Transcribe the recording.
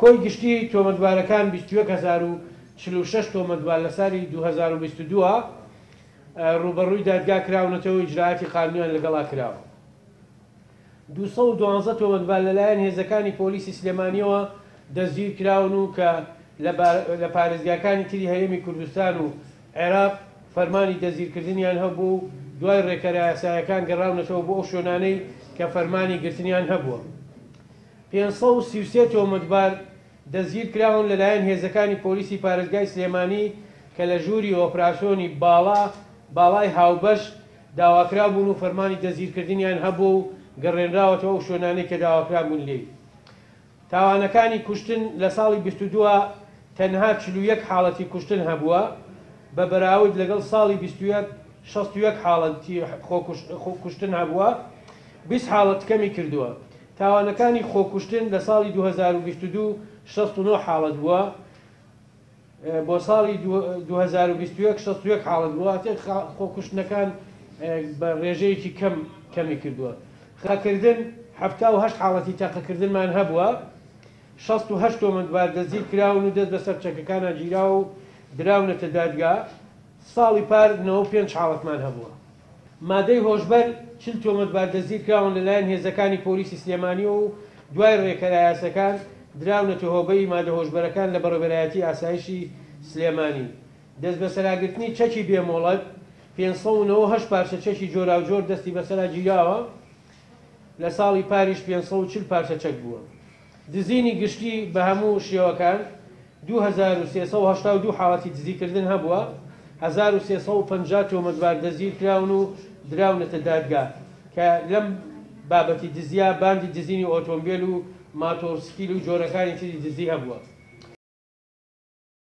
کۆی گشتی تۆمەتبارەکان 21,046 تۆمەتبار لە سالی 2022 ڕووبەڕووی دادگا کراونەتەوە و ئیجرائاتی قانونیان لەگەڵا کراوە. 212 تۆمەتبار لەلایەن هێزەکانی پۆلیسی سلێمانییەوە دەستگیرکراون و کە لە پارێزگاکانی تری هەرێمی کوردستان و عێراق فەرمانی دەستگیرکردنیان هەبووە و دوای ڕێکارە یاسایەکان گەڕاونەتەوە بۆ ئەو شوێنانەی کە فەرمانی گرتنیان هەبووە. 533 تۆمەتبار دەستگیرکراون لەلایەن هێزەکانی پۆلیسی پارێزگای سلێمانی کە لە ژووری ئۆپراسیۆنی باڵا باڵای هاوبەش داواکراو بوون و فەرمانی دەستگیرکردنیان هەبووە و گەڕێنراوەتەوە ئەو شوێنانەی کە داواکرابوون لێی. تاوانەکانی کوشتن لە ساڵی 22 تەنها 41 حاڵەتی کوشتن هەبووە، بە بەراورد لەگەڵ ساڵی 21 61 حاڵەتی خۆکوشتن هەبووە، 20 حاڵەت کەمی کردووە. تاوانەکانی خۆکوشتن لە ساڵی 2022 69 حاڵەت بووە، بۆ ساڵی 2021 61 حاڵەت بووە، واتە خۆکوشتنەکان بە ڕێژەیەکی کەم کەمی کردووە. تەقەکردن 78 حاڵەتی تەقەکردنمان هەبووە، 68 تۆمەتبار دەستگیر کراون و دەست بەسەر چەکەکانا گیراوە و دراونەتە دادگا، ساڵی پار 95 حاڵەتمان هەبووە. مادەی هۆشبەر 40 تۆمەتبار دەستگیر کراون لەلایەن هێزەکانی پۆلیسی سلێمانیەوە و دوای ڕێکارە یاسەکان دراونەتە هۆبەی مادە هۆشبەرەکان لە بەڕێوەبەرایەتی ئاسایشی سلێمانی. دەستبەسەراگرتنی چەکی بێ مۆڵەت 598 پارچە چەکی جۆراوجۆر دەستی بەسەرا گیراوە، لە ساڵی پاریش 540 پارچە چەک بووە. دزینی گشتی بە هەموو شێوەکان 2382 حاڵەتی دزیکردن هەبووە، 1350 تۆمەتبار دەستگیرکراون و دراونەتە دادگا کە لەم بابەتی دزیە باندی دزینی ئۆتۆمبێل و ماتۆڕسکیل و جۆرەکانی تری دزی هەبووە.